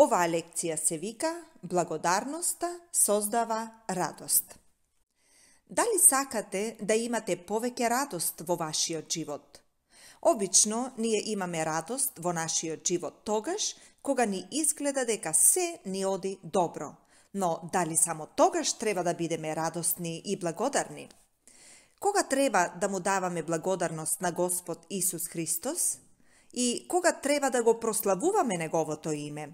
Оваа лекција се вика Благодарноста создава радост. Дали сакате да имате повеќе радост во вашиот живот? Обично ние имаме радост во нашиот живот тогаш кога ни изгледа дека се ни оди добро, но дали само тогаш треба да бидеме радосни и благодарни? Кога треба да му даваме благодарност на Господ Исус Христос и кога треба да го прославуваме Неговото име?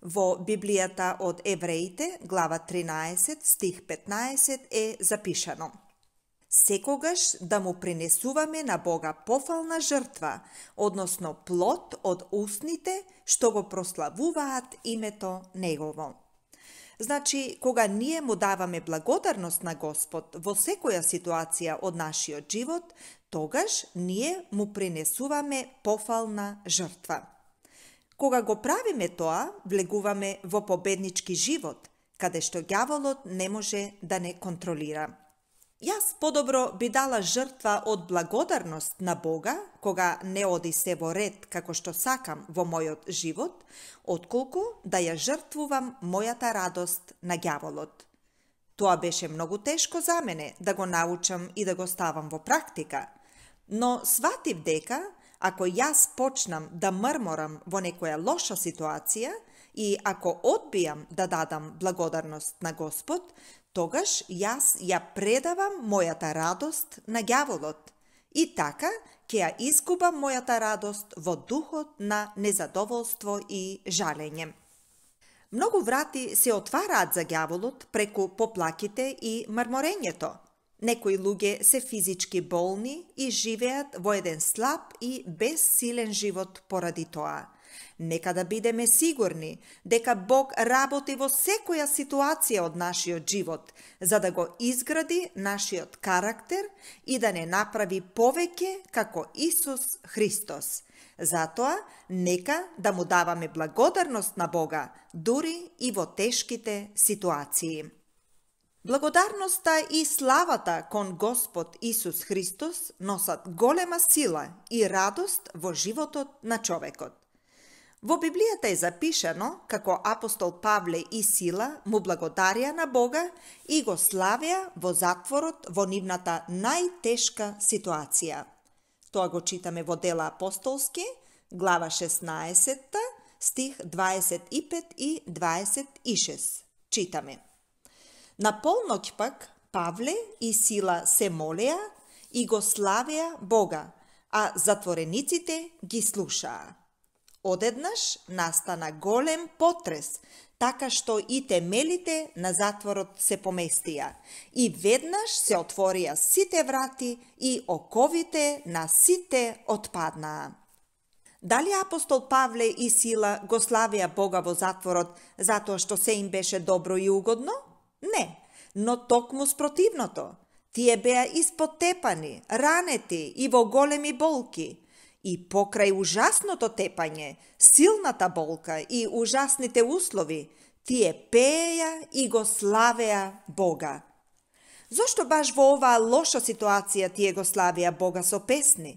Во Библијата од Евреите, глава 13, стих 15 е запишано: секогаш да му принесуваме на Бога пофална жртва, односно плод од устните што го прославуваат името Негово. Значи, кога ние му даваме благодарност на Господ во секоја ситуација од нашиот живот, тогаш ние му принесуваме пофална жртва. Кога го правиме тоа, влегуваме во победнички живот, каде што ѓаволот не може да не контролира. Јас подобро би дала жртва од благодарност на Бога, кога не оди се во ред како што сакам во мојот живот, отколку да ја жртвувам мојата радост на ѓаволот. Тоа беше многу тешко за мене да го научам и да го ставам во практика, но сватив дека ако јас почнам да мрморам во некоја лоша ситуација и ако одбијам да дадам благодарност на Господ, тогаш јас ја предавам мојата радост на ѓаволот и така ќе ја изгубам мојата радост во духот на незадоволство и жалење. Многу врати се отвараат за ѓаволот преку поплаките и мрморењето. Некои луѓе се физички болни и живеат во еден слаб и безсилен живот поради тоа. Нека да бидеме сигурни дека Бог работи во секоја ситуација од нашиот живот, за да го изгради нашиот карактер и да не направи повеќе како Исус Христос. Затоа, нека да му даваме благодарност на Бога, дури и во тешките ситуации. Благодарноста и славата кон Господ Исус Христос носат голема сила и радост во животот на човекот. Во Библијата е запишано како апостол Павле и Сила му благодарија на Бога и го славеа во затворот во нивната најтешка ситуација. Тоа го читаме во Дела апостолски, глава 16, стих 25 и 26. Читаме: на полноќ пак Павле и Сила се молеа и го славеа Бога, а затворениците ги слушаа. Одеднаш настана голем потрес, така што и темелите на затворот се поместија, и веднаш се отворија сите врати и оковите на сите отпаднаа. Дали апостол Павле и Сила го славеа Бога во затворот затоа што се им беше добро и угодно? Не, но токму спротивното. Тие беа испотепани, ранети и во големи болки. И покрај ужасното тепање, силната болка и ужасните услови, тие пееја и го славеа Бога. Зошто баш во оваа лоша ситуација тие го славеа Бога со песни?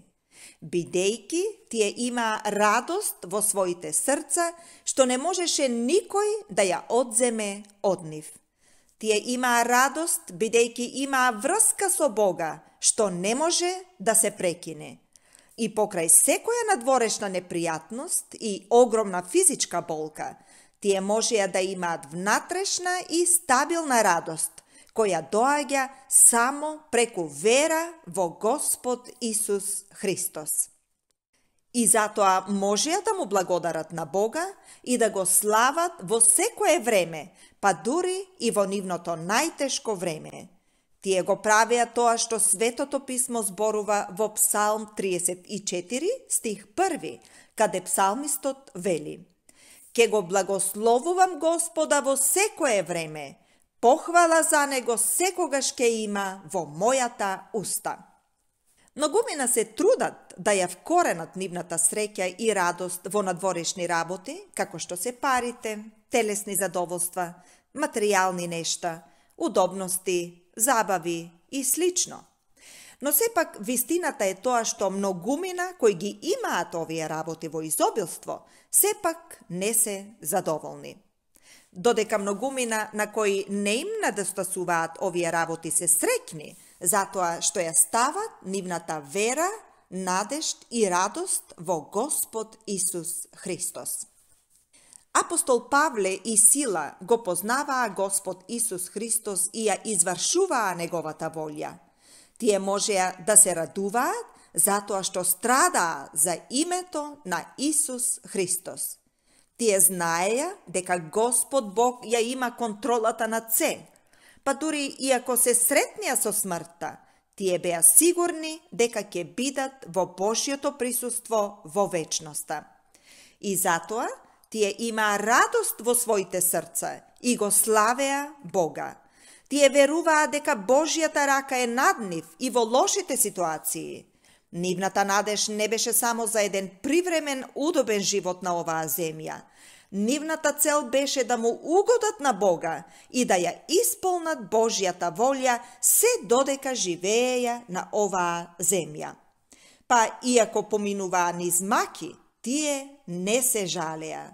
Бидејќи тие имаа радост во своите срца, што не можеше никој да ја одземе од нив. Тие имаа радост, бидејќи имаа врска со Бога, што не може да се прекине. И покрај секоја надворешна непријатност и огромна физичка болка, тие можеа да имаат внатрешна и стабилна радост, која доаѓа само преку вера во Господ Исус Христос. И затоа можеа да му благодарат на Бога и да го слават во секое време, па дури и во нивното најтешко време. Тие го правеа тоа што Светото Писмо зборува во Псалм 34, стих 1, каде псалмистот вели: ке го благословувам Господа во секое време, похвала за него секогаш ке има во мојата уста. Многумина се трудат да ја вкоренат нивната среќа и радост во надворешни работи, како што се парите, телесни задоволства, материјални нешта, удобности, забави и слично. Но сепак вистината е тоа што многумина кои ги имаат овие работи во изобилство, сепак не се задоволни. Додека многумина на кои не им недостасуваат овие работи се среќни, затоа што ја стават нивната вера, надежд и радост во Господ Исус Христос. Апостол Павле и Сила го познаваа Господ Исус Христос и ја извршуваа неговата волја. Тие можеа да се радуваат затоа што страдаа за името на Исус Христос. Тие знаеја дека Господ Бог ја има контролата над се, па дури и ако се сретнија со смртта, тие беа сигурни дека ќе бидат во Божјото присуство во вечноста. И затоа тие имаа радост во своите срца и го славеа Бога. Тие веруваа дека Божјата рака е над нив и во лошите ситуации. Нивната надеж не беше само за еден привремен, удобен живот на оваа земја. Нивната цел беше да му угодат на Бога и да ја исполнат Божјата волја се додека живееја на оваа земја. Па иако поминуваа низ маки, тие не се жалеа.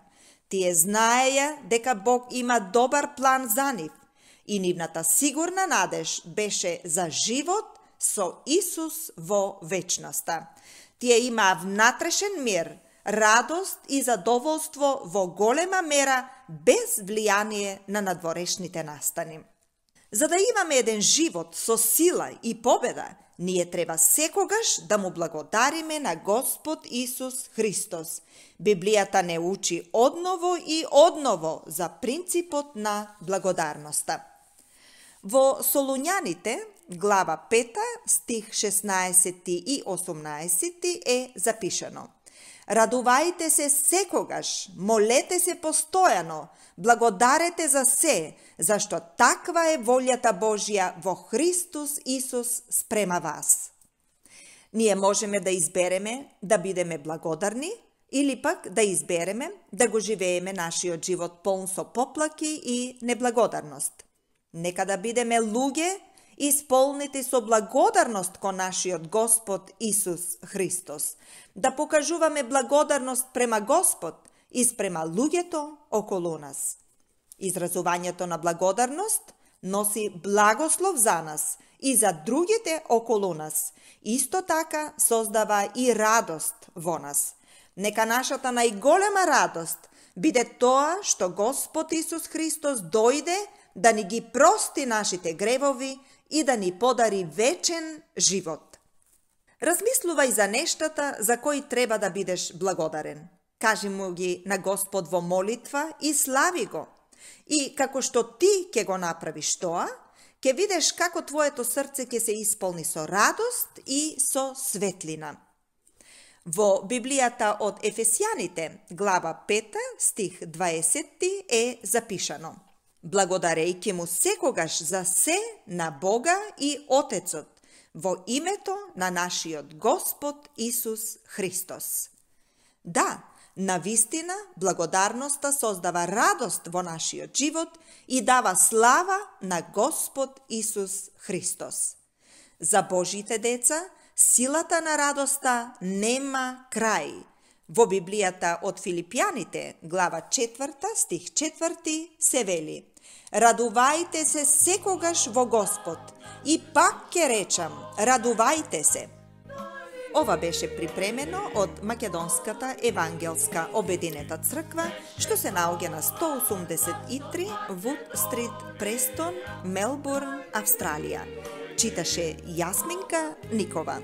Тие знаеја дека Бог има добар план за нив и нивната сигурна надеж беше за живот со Исус во вечноста. Тие имаа внатрешен мир, радост и задоволство во голема мера без влијание на надворешните настани. За да имаме еден живот со сила и победа, ние треба секогаш да му благодариме на Господ Исус Христос. Библијата не учи одново и одново за принципот на благодарноста. Во Солуњаните, глава 5, стих 16 и 18 е запишано: Радувајте се секогаш, молете се постојано, благодарете за се, зашто таква е волјата Божја во Христос Исус спрема вас. Ние можеме да избереме да бидеме благодарни или пак да избереме да го живееме нашиот живот полн со поплаки и неблагодарност. Нека да бидеме луѓе исполнети со благодарност кон нашиот Господ Исус Христос, да покажуваме благодарност према Господ и спрема луѓето околу нас. Изразувањето на благодарност носи благослов за нас и за другите околу нас. Исто така создава и радост во нас. Нека нашата најголема радост биде тоа што Господ Исус Христос дојде да ни ги прости нашите гревови и да ни подари вечен живот. Размислувај за нештата за кои треба да бидеш благодарен. Кажи му ги на Господ во молитва и слави го. И како што ти ќе го направиш тоа, ќе видиш како твоето срце ќе се исполни со радост и со светлина. Во Библијата од Ефесјаните, глава 5, стих 20 е запишано: Благодарејќи му секогаш за се на Бога и Отецот, во името на нашиот Господ Исус Христос. Да, навистина, благодарноста создава радост во нашиот живот и дава слава на Господ Исус Христос. За Божите деца, силата на радоста нема крај. Во Библијата од Филипјаните, глава 4, стих 4 се вели: Радувајте се секогаш во Господ. И пак ќе речам, радувајте се. Ова беше припремено од Македонската евангелска обединета црква, што се наоѓа на 183 Вуд Стрит, Престон, Мелбурн, Австралија. Читаше Јасминка Никова.